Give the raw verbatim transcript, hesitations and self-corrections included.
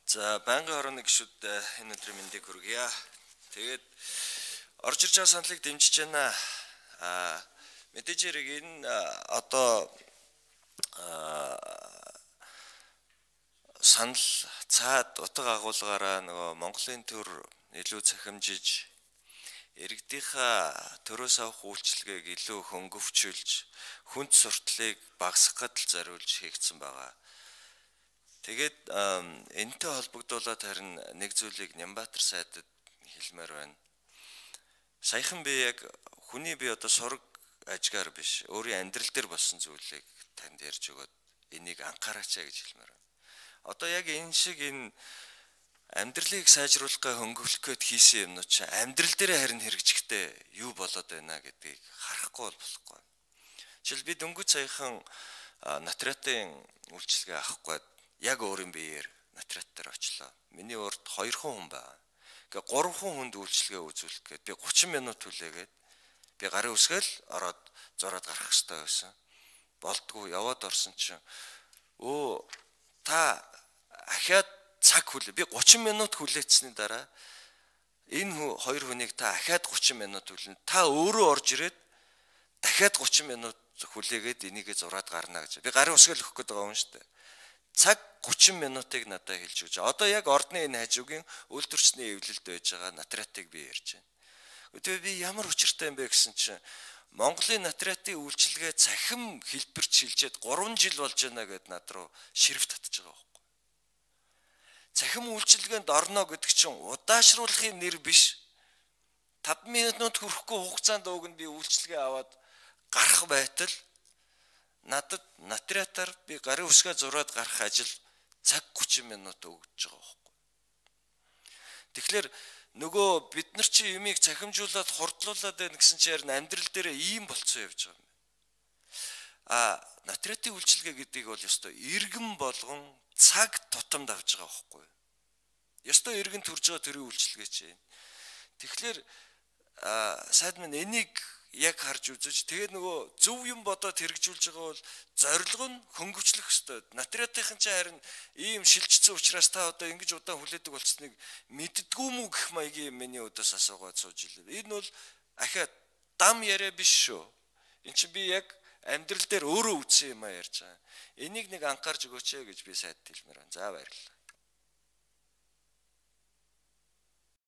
За байнгын хорооны гишүүд энэ өдрийн мэндийг хүргье. Тэгээд орж ирж байгаа саналыг дэмжиж байна. Аа мэдээж хэрэг энэ одоо санал цаад утга агуулгаараа нөгөө Монголын төр илүү цахимжиж иргэдийнхаа төрөөс авах үйлчилгээг илүү хөнгөвчүүлж хүнд сурталыг багасгахад л зориулж хийгдсэн байгаа. Тэгээд энэтэй холбогдуулаад харин нэг зүйлийг Нямбатар сайдад хэлмээр байна. Саяхан би яг хүний би одоо сураг ажгаар биш, өөрийн амьдрал дээр болсон зүйлийг танд ярьж өгөөд энийг анхаараач гэж хэлмээр байна. Одоо яг энэ шиг энэ амьдралыг сайжруулах гэ хөнгөвлөх гээд хийсэн юмнууд чинь амьдрал дээр харин хэрэгжихтэй юу болоод байна гэдгийг харахгүй бол болохгүй. Жишээл би дөнгөж саяхан натратын үйлчилгээ авахгүй яг өөрийн биеэр натрат дээр очлоо. Миний урд хоёр хүн байна. Ингээ гурван хүнд үйлчилгээ үзүүлэх гээд би гучин минут хүлээгээд би гарын үсгээл ороод зураад гарах хэрэгтэй байсан. Болдгоо яваад орсон чинь өө та ахаад цаг хүлээ. Би гучин минут хүлээцсэний дараа энэ хоёр хүнийг та ахаад гучин минут хүлээн. Та өөрөө орж ирээд дахиад гучин минут хүлээгээд энийгээ зураад гарна гэж. Би гарын үсгээл өгөх гээд байгаа юм шүү дээ. Цаг гучин минутыг надад хэлж өгч. Одоо яг ордны энэ хажуугийн үйлдвэрчний эвлэлд байж байгаа натратыг би ярьж байна. Тэгээ би ямар учиртай юм бэ гэсэн чинь Монголын натратын үйлчилгээ цахим хэлбэрч шилжээд гурван жил болж байна гэд над руу ширв татж байгаа байхгүй. Цахим үйлчилгээнд орно гэдэг чинь удаашруулахын нэр биш. таван минут хүрэхгүй хугацаанд ууг нь би үйлчилгээ аваад гарах байтал надад натратаар би гарын үсгээ зураад гарах ажил цаг гучин минут өгдөж байгаа байхгүй. Тэгэхээр нөгөө бид нар чи юмыг цахимжуулаад хурдлуулад байна гэсэн чи ярин амьдрал дээр ийм болцсон явж байгаа юм. А натратын үйлчилгээ гэдгийг бол ёстой иргэн болгон цаг тутамд авч байгаа байхгүй. Ёстой иргэн төрж байгаа төрийн үйлчилгээ чи. Тэгэхээр сайд минь энийг яг харж үзэж тэгээд нөгөө зөв юм бодоод хэрэгжүүлж байгаа бол зорилго нь хөнгөвчлөх ёстой. Натратынхан ч харин ийм шилжчихсэн учраас та одоо ингэж удаан хүлээдэг болцсныг мэддгүү мүү гэх маягийн миний өдөөс асуугаад сууж илээ. Энэ бол ахаа дам яриа биш шүү. Энд чинь би яг амьдрал дээр өөрөө үтсэн юм а ярьж байгаа. Энийг нэг анхаарч өгөөч ээ гэж би сайд хэлмээр байна. За баярлалаа.